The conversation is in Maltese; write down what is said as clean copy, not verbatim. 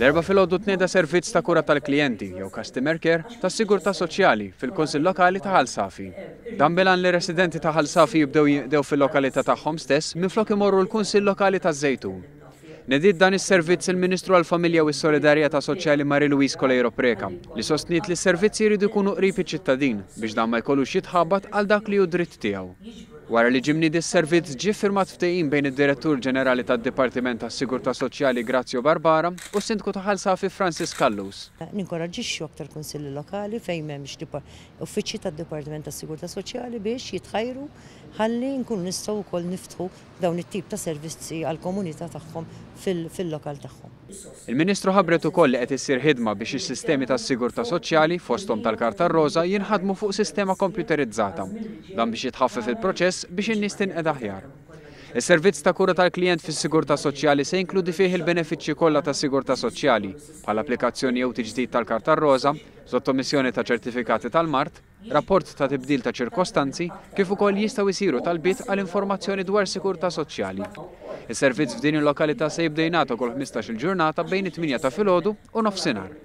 L-Erbgħa filgħodu tnieda servizz ta' kura tal-klijenti, jew customer care, tas-Sigurtà Soċjali fil-Kunsill Lokali ta' Ħal Safi. Dan bil-għan li residenti ta' Ħal Safi jibdew jinqdew fil-lokalità tagħhom stess minflok imorru l-Kunsill Lokali taż-Żejtun. Nediet dan is-servizz il-Ministru għall-Familja u s-Solidarjetà Soċjali Marie Louise Coleiro Preca, li sostniet li s-servizzi jridu jkunu qrib iċ-ċittadin biex dan ma jkollux jitħabat għal dak li hu dritt tiegħu. Wara li ġie mniedi s-servizz ġie ffirmat ftehim bejn id-Direttur Ġenerali tad-Dipartiment tas-Sigurtà Soċjali Grazio Barbara u s-Sindku ta' Ħal Safi Francis Callus. Ninkoraġġixxu aktar kunsilli lokali fejn m'hemmx uffiċċji tad-Dipartiment tas-Sigurtà Soċjali biex jitħajru ħalli nkunu nistgħu wkoll niftħu dawn it-tip ta' servizzi għall-komunità tagħhom fil-lokal tagħhom. Il-Ministru ħabbret ukoll li qed issir ħidma biex is-sistemi tas-sigurtà soċjali, fosthom tal-Karta r-Roża, jinħadmu fuq sistema kompjuterizzata. Dan biex jitħaffef il-proċess biex in-nies tinqeda aħjar. Is-servizz ta' kura tal-klijent fis-sigurtà soċjali se jinkludi fih il-benefiċċji kollha tas-sigurtà soċjali, bħal applikazzjoni jew tiġdid tal-Karta r-Roża, sottomissjoni ta' ċertifikati tal-mard, rapport ta' tibdil ta' ċirkostanzi, kif ukoll jistgħu jsiru talbiet għal informazzjoni dwar sigurtà soċjali. Is-servizz f'din il-lokalità se jibda jingħata kull 15-il ġurnata bejn it-tmienja ta' filgħodu u nofsinhar.